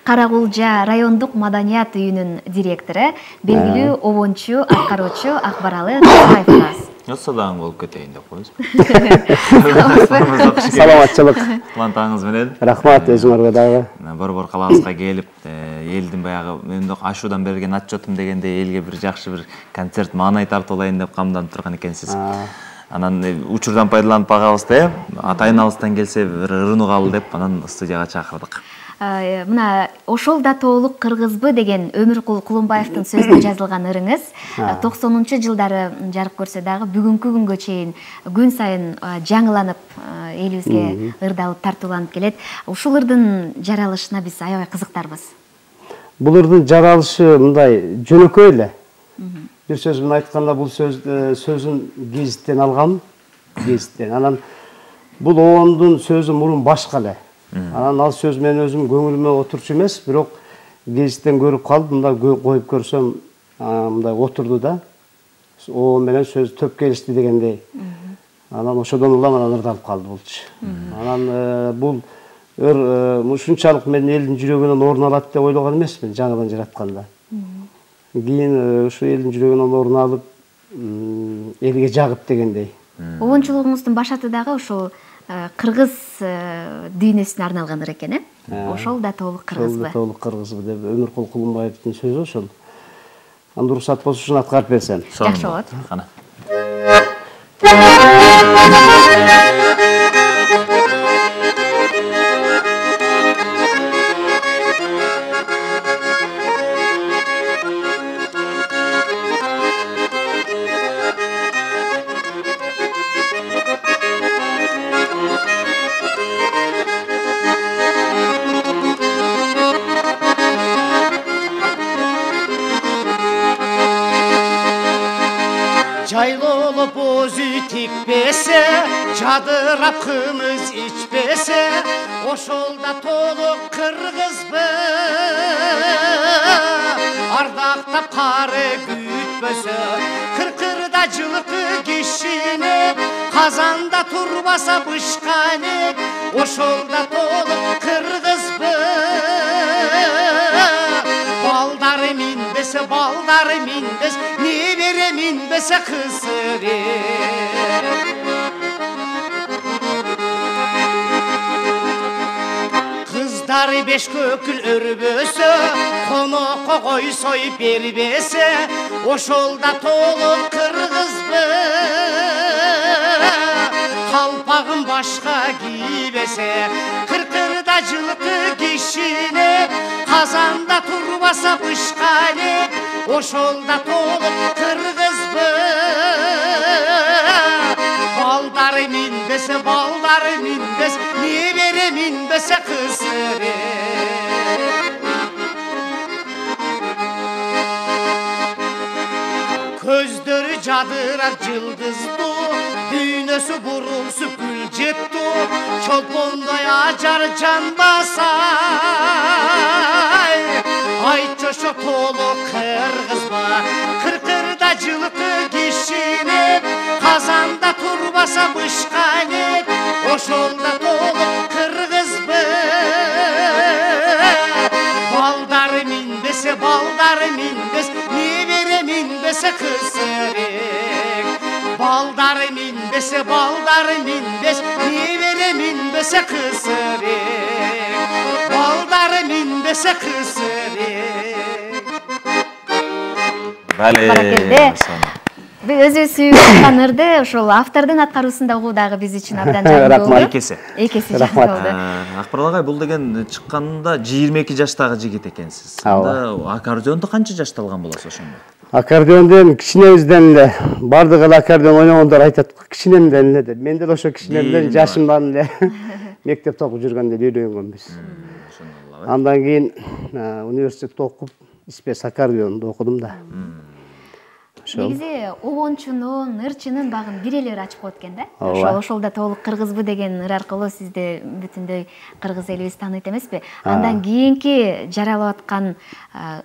Каракулжа райондук маданият үйүнүн директору, белгилүү обончу, аткаруучу Акбаралы Кызбаев. Садаң болуп кетейин деп коебуз. Саламатчылык. Кубантаңыз менен. Рахмат өзүңөргө дагы. Борбор калабызга келип, элдин баягы мендик ашуудан берген отчетум дегенде элге бир жакшы бир концерт маанай тартуулайын деп камданып турган экенсиз. Анан учурдан пайдаланып багабыз да, атайын-алыстан келсе бир ырынугалы деп анан студияга чакырдык. Мына ошол да тоолук кыргызбы деген Өмүркул Кулумбаевдин сөзүнө жазылган ырыңыз 90-жылдары жарык көрсө дагы бүгүнкү күнгө чейин күн сайын жаңыланып элибизге ырдалып тартууланып келет. Ушул ырдын жаралышына биз аябай кызыктарбыз. Бул ырдын жаралышы мындай жөнөкөй эле. Бир сөз менен айтканда бул сөзүн гезиттен алгам, гезиттен. Анан бул обондун сөзү мурун башка эле. Анан ал сөз менен өзүм көңүлүмө отурчу эмес, бирок гезиттен көрүп калып, мындай коюп көрсөм, мындай отурду да. О менен сөз төп келишти дегендей. Анан ошодон улам анан ырдалып калды болчу. Анан бул ушунчалык мен элдин жүрөгүнөн орун алат деп ойлогон эмесмин жаңыдан жаратканда. Кийин ушу элдин жүрөгүнөн орун алып, элге жагып дегендей. Обончулугуңуздун башаты дагы ошол кыргыз дүйнөсүнө арналган экен, ошол да тоолук кыргызбы? Ошол да тоолук кыргызбы деп Өмүркул Кулумбаевдин сөзү ошол. Анда уруксат болсо ушуну аткарып берсем. Жакшы болот. Кана. Жайлолуп өзү тикпесе, жадырап кымыз ичпесе, ошол да тоолук кыргызбы. Ардактап кары күтпөсө, кыркырда жылкы кишине, казанда турбаса бышканы, ошол да тоолук кыргызбы. Балдары минбес, небере минбесе кызыры. Кыздары беш көкүл өрбөсө, конокко кой союп бербесе, ошол да тоолук кыргызбы. Калпагын башка кийбесе, кыркырда жылкы кишине, казанда турбаса бышканы, ошол да тоолук кыргызбы. Балдары минбес, небере минбесе кызыры. Көздөрү жадырап жылдыздуу, дүйнөсү бурулсуп гүл жетту, чолпондой ажар жанбаса. Айтчы ошо тоолук кыргызбы, кыркырда жылкы кишине, казанда турбаса бышканы, ошол да тоолук кыргызбы. Балдары минбес, небере минбесе кызырык. Балдары минбес, небере минбесе кызырык. Балдары минбесе кызырык. Бале. Өзү сүйүп аткан ырды ошол автордун аткаруусунда угуу дагы биз үчүн абдан жакшы болду. Экеси жакшы болду. Акбарал агай, бул деген чыкканда 22 жаштагы жигит экенсиз. Анда аккордеонду канча жашта алган болосуз ошондо? Аккордеондон кичинебизден эле бардык эле аккордеон ойногондор айтат, кичинемден эле деп. Мен деле ошо кичинемден жашымдан эле мектепте окуп жүргөндө үйрөнгөнбүз. Андан кийин университетте окуп, спец аккордеонду окудум да. Негизи обончунун, ырчынын багын бир эле ачып коет экен да. Ошол да тоолук кыргызбы деген ыр аркылуу сизди бүтүндөй кыргыз элибиз тааныйт эмеспи? Андан кийинки жаралып аткан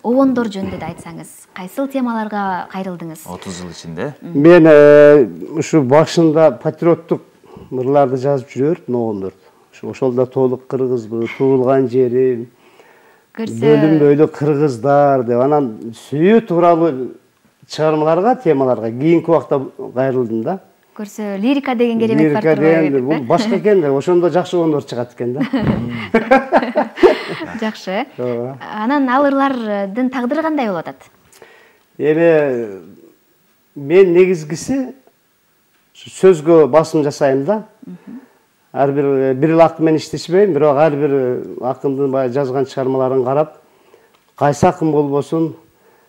обондор жөнүндө да айтсаңыз, кайсыл темаларга кайрылдыңыз? 30 жыл ичинде. Мен ушу башында патриоттук ырларды жазып жүрөт, обондор. Ошол да тоолук кыргызбы, туулган жерим, бөлүнбөйлүү кыргыздар деп анан сүйүү тууралуу чыгармаларга, темаларга кийинки убакта кайрылдым да. Көрсө лирика деген керемет бар турбайбы? Бул башка экен да, ошондо жакшы ондор чыгат экен да. Жакшы. Анан ал ырлардын тагдыры кандай болуп атат? Эми мен негизгиси сөзгө басым жасайм да. Ар бир эле акын менен иштешпейм, бирок ар бир акындын баягы жазган чыгармаларын карап, кайсы акын болбосун,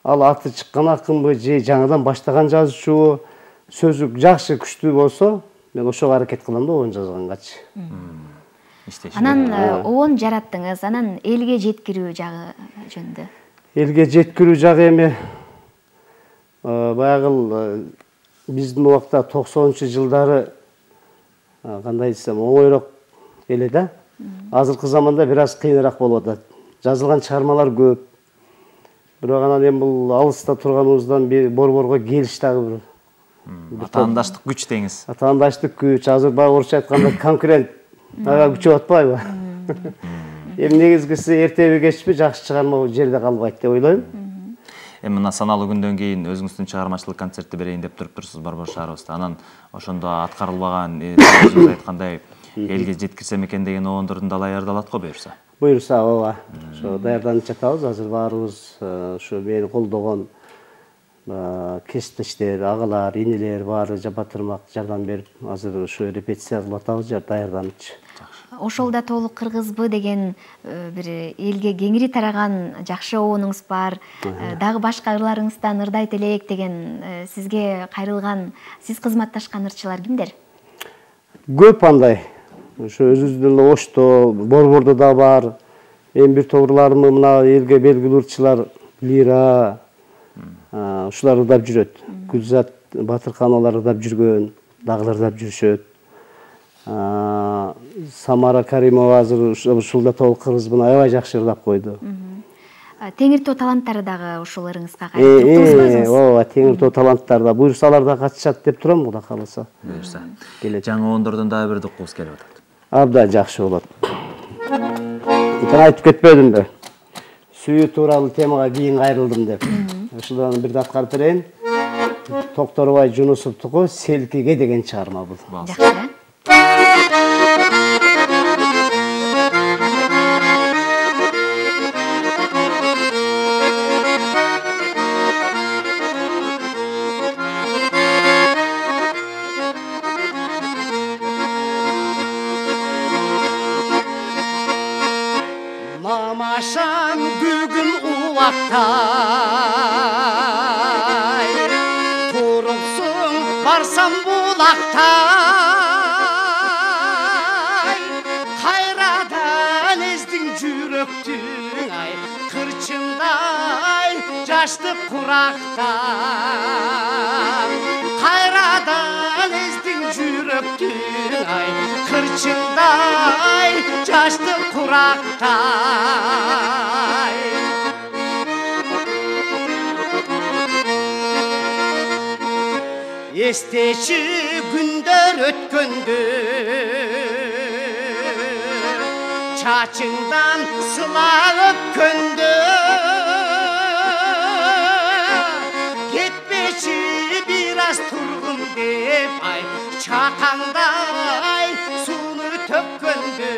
ал аты чыккан акынбы же жаңыдан баштаган жазуучубу, сөзү жакшы күчтүү болсо, мен ошого аракет кылам да обон жазгангачы. Анан обон жараттыңыз, анан элге жеткирүү жагы жөнүндө. Элге жеткирүү жагы эми баягы биздин убакта 90-жылдары кандай десем оңойрок эле да. Азыркы заманда бир аз кыйыныраак болуп атат. Жазылган чыгармалар көп. Бирок анан эми бул алыста турганыбыздан борборго келиш дагы бир атаандаштык күч деңиз. Атаандаштык күч, азыр баягы орусча айтканда конкурент күчөп атпайбы? Эми негизгиси эртеби кечпи жакшы чыгарма жерде калбайт деп ойлойм. Эми мына саналуу күндөн кийин өзүңүздүн чыгармачылык концертти берейин деп туруптурсуз борбор шаарыбызда. Анан ошондо аткарылбаган, өзүңүз айткандай элге жеткирсем экен деген обондордун да даярдалат го буюрса. Буюрса, ооба. Ошо даярданып жатабыз. Азыр баарыбыз ушу мени колдогон кесиптештер, агалар, инелер баары батырмак жардам берип, азыр ушу репетиция кылып атабыз, даярданычы. Ошол да толук кыргызбы деген бир элге кеңири тараган жакшы обонуңуз бар. Дагы башка ырларыңыздан ырдайт элек деген сизге кайрылган, сиз кызматташкан ырчылар кимдер? Көп андай. Ошо өзүбүздүн Ошто, борбордо да бар. Эми бир торларым мына элге белгилүү ырчылар Лира, ушулар ырдап жүрөт. Гүлзат Батырхановалар ырдап жүргөн, дагылар ырдап жүрүшөт. Самара Каримова азыр ушул да толук кыргызбын аябай жакшы ырдап койду. Теңир Тоо таланттары дагы ушул ырыңызга кайрылып. Ооба, Теңир Тоо таланттары да буюрсалар да катышат деп турам, Кудай кааласа. Буюрса. Жаңы обондордон дагы бир дуккубуз келип атат. Абдан жакшы болот. Айтып кетпедимби? Сүйүү тууралуу темага кийин кайрылдым деп. Ушудан бир аткарып берейин. Токторбай Жунусовдуку Селкиге деген чыгарма бул. Жакшы. Намашан бүгүн улактай, турупсуң барсам булактай, кайрадан эздиң жүрөктүң ай, кырчындай жашты курактан, кайрадан эздиң жүрөктүң ай, кырчындай жашты курактай. Эстечи күндөр өткөндө, чачыңдан сыла өпкөндө, кетпечи бир аз тургун деп ай, чакаңдай сууну төккөндө,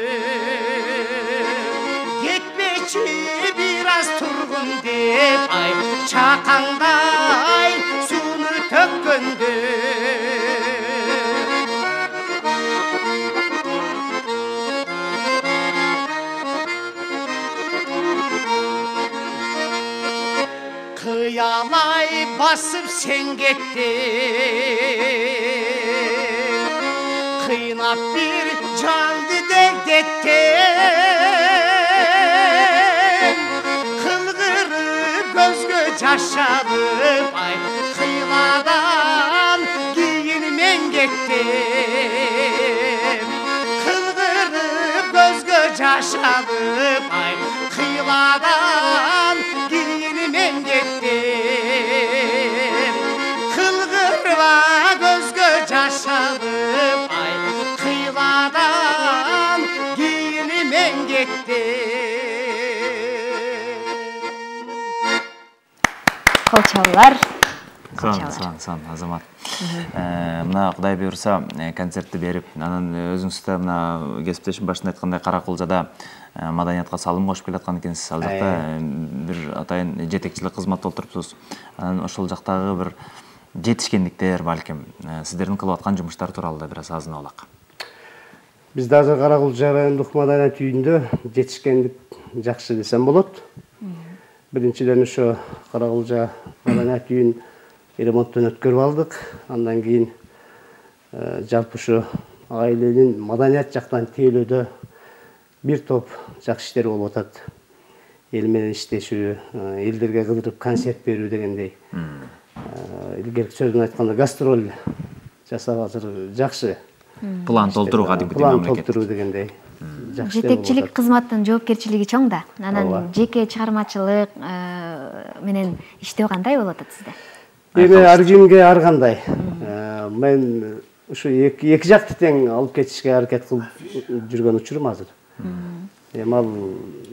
кетпечи бир аз тургун деп ай, чакаңдай сууну төккөндө. Кыялай басып сен кеттің, кыйнап бир жанды дегдеттің, кылгырып көзгө жаш алып ай, кыйладан кийин мен кеттим, кылгырып көзгө жаш алып ай, кыйладан кийин мен кеттим, кылгырба көзгө жаш алып ай, кыйладан кийин мен кеттим. кол чабуулар. Сон Азамат. Мына Кудай буйрса концертти берип, анан өзүңүз да мына кесиптешим башында айткандай Каракулжада маданиятка салым кошуп келаткан экенсиз. Ал жакта бир атайын жетекчилик кызматта отурупсуз. Анан ошол жактагы бир жетишкендиктер балким сиздердин кылып аткан жумуштар тууралуу да бир аз азын алак. Бизде азыр Каракулжа райондук маданият үйүндө жетишкендик жакшы десем болот. Биринчиден ошо Каракулжа маданият үйүн ремонттон өткөрүп алдык. Андан кийин жалпы ушу айланын маданият жактан тейлөөдө бир топ жакшы иштер болуп атат. Эл менен иштешүү, элдерге кыдырып концерт берүү дегендей. Илгерки сөз менен айтканда гастроль жасап азыр жакшы. План толтуруу кадимки мамлекет. План толтуруу дегендей. Жетекчилик кызматтын жоопкерчилиги чоң да. Анан жеке чыгармачылык менен иштөө кандай болуп атат сизде? Эми ар кимге ар кандай. Мен ушу эки жакты тең алып кетишке аракет кылып жүргөн учурум азыр. Эми ал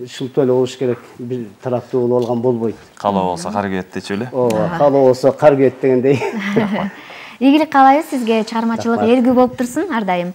шылтоо эле болуш керек, бир тараптуу болуп алган болбойт. Калоо болсо кар күйөт дечү эле. Ооба, калоо болсо кар күйөт дегендей. Ийгилик каалайбыз сизге, чыгармачылык элгүү болуп турсун ар дайым.